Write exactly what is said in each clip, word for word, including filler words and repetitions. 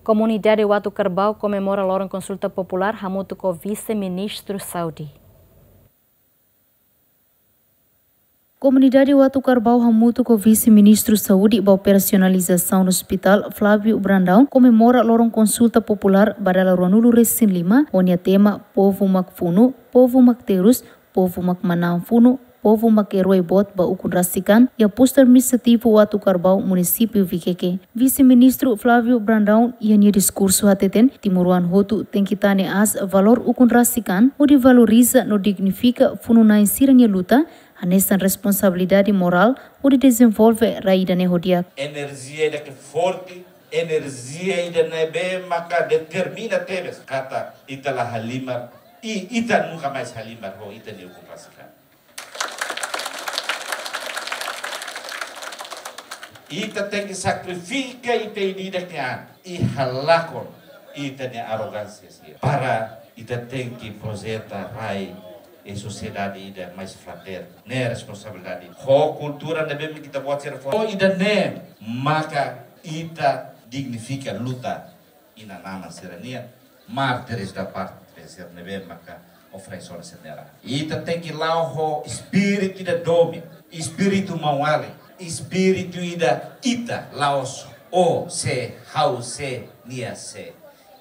Komunidade Uatucarbau komemora loron konsulta populár hamutuk ho Vise-Ministru Saúde. Komunidade Uatucarbau hamutuk ho Vise-Ministru Saúde ba Operasionalizasaun Ospitál, Flávio Brandão, komemora loron konsulta populár ba dala ruanulu-resin-lima, ho nia tema Povu mak funu, povu mak terus, povu mak manán funu, povu mak erói boot ba ukun rasik an, iha Postu Administrativu Uatucarbau, Munisípiu Viqueque. Vise-Ministru Flávio Brandão iha nia diskursu hateten, timoroan hotu tenke tane aas valór ukun rasik an, hodi valoriza no dignifika funu-na'in sira-nia luta, hanesan responsabilidade morál, hodi dezenvolve rai ida-ne'e ho di'ak. Enerjia ida ke forte, enerjia ida ne'ebé maka determina tebes katak ita la halimar, i ita nunka mais halimar ho ita-nia ukun rasik an. Ita tenke sakrifika ita ida-idak nia an, i halakon ita-nia arrogánsia sira. Para ita tenke projeta rai i sosiedade ida mais fraterna. Ne'e responsabilidade. Ho kultura ne'ebé mak ita-boot sira fó. Ho ida-ne'e maka ita dignifika luta inan-aman sira-nian, mártires da pátria sira ne'ebé maka oferese ona sira-nia ran. Ita tenke la'o ho espíritu ida domin, espíritu maun-alin, espíritu ida ita, la'ós ó sé, ha'u sé, nia sé.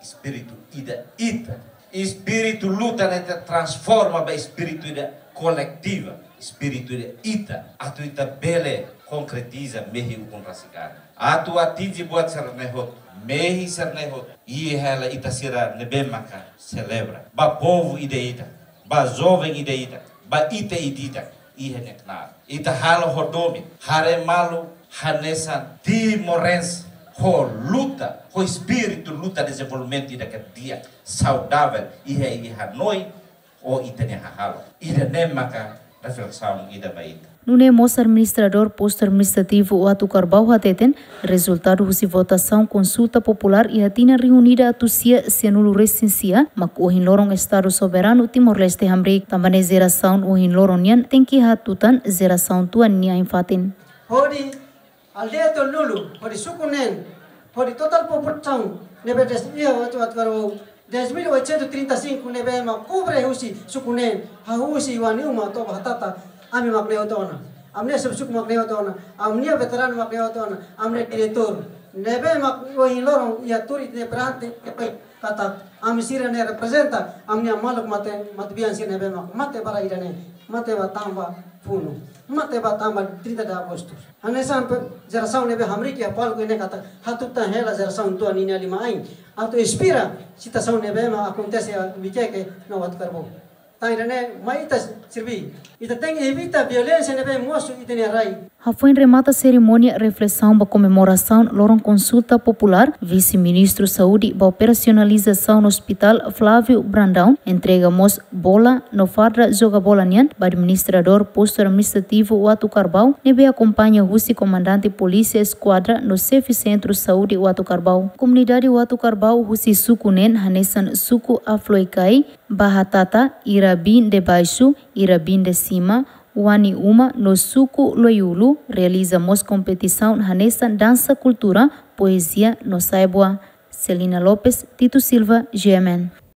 Espíritu ida ita. Espíritu luta ne'e ita transforma ba espíritu ida koletiva, espíritu ida ita. Atu ita bele konkretiza mehi ukun rasik an. Atu atinje buat sira-ne'e hotu, mehi sira-ne'e hotu. I hela ita sira ne'ebé maka selebra. Ba povu ida-idak, ba joven ida-idak, ba ita ida-idak, iha nia knaar. Ita halo ho domin, haree malu hanesan timorense, ho luta, ho espíritu luta dezenvolvimentu ida ke di'ak, saudavel, iha, iha hanoin, ho ita-nia hahalok. Ida-ne'e maka reflesaun ida ba ita. Nune'e mós Administradór Postu Administrativu Uatucarbau hateten, rezultadu husi votasaun konsulta populár iha tinan rihun ida atus sia sianulu-resin-sia, mak ohin loron Estadu Soberanu Timor-Leste hamriik. Tanba ne'e jerasaun ohin loron nian tenke hatutan jerasaun tuan nia ain-fatin. Hodi aldeia tolunulu, hodi suku neen, hodi totál populasaun ne'ebé des-, iha Uatucarbau, dez mil oitocentos e trinta e cinco ne'ebé mak kobre husi suku neen, hahú husi Wani Uma to'o ba Hatata, ami mak ne'e hotu ona. Ami-nia suku mak ne'e hotu ona. Ami-nia veteranu mak ne'e hotu ona. Ami-nia diretór ne'ebé mak ohin loron iha tuur ita-nia perante, katak ami sira ne'e reprezenta ami-nia maluk mate, matebian sira ne'ebé mak mate ba rai ida-ne'e, mate ba tanba funu, mate ba tanba trinta de Agosto. Hanesan pe jerasaun ne'ebé hamriik iha palku ne'e katak hatutan hela jerasaun tuan ninia liman-ain. Atu inspira situasaun ne'ebé mak akontese iha Viqueque no Uatucarbau. Tan ida-ne'e mai ita serví. Ita tenke evita violénsia ne'ebé mosu ita-nia rai. Hafoin remata serimónia reflesaun ba komemorasaun loron konsulta populár, Vise-Ministru Saúde ba Operasionalizasaun Ospitál, Flávio Brandão, entrega mós bola no farda joga bola nian ba Administradór Postu Administrativu Uatucarbau, ne'ebé akompaña husi Komandante Polísia Eskuadra no Xefe Sentru Saúde Uatucarbau. Komunidade Uatucarbau husi suku neen hanesan suku Afloikai, Bahatata, Irabin de Baixo, Irabin de Cima, Wani Uma no suku Loiulu realiza mós kompetisaun hanesan dansa kultura, poezia no sai-boa. Celina Lopes, Tito Silva, G M N.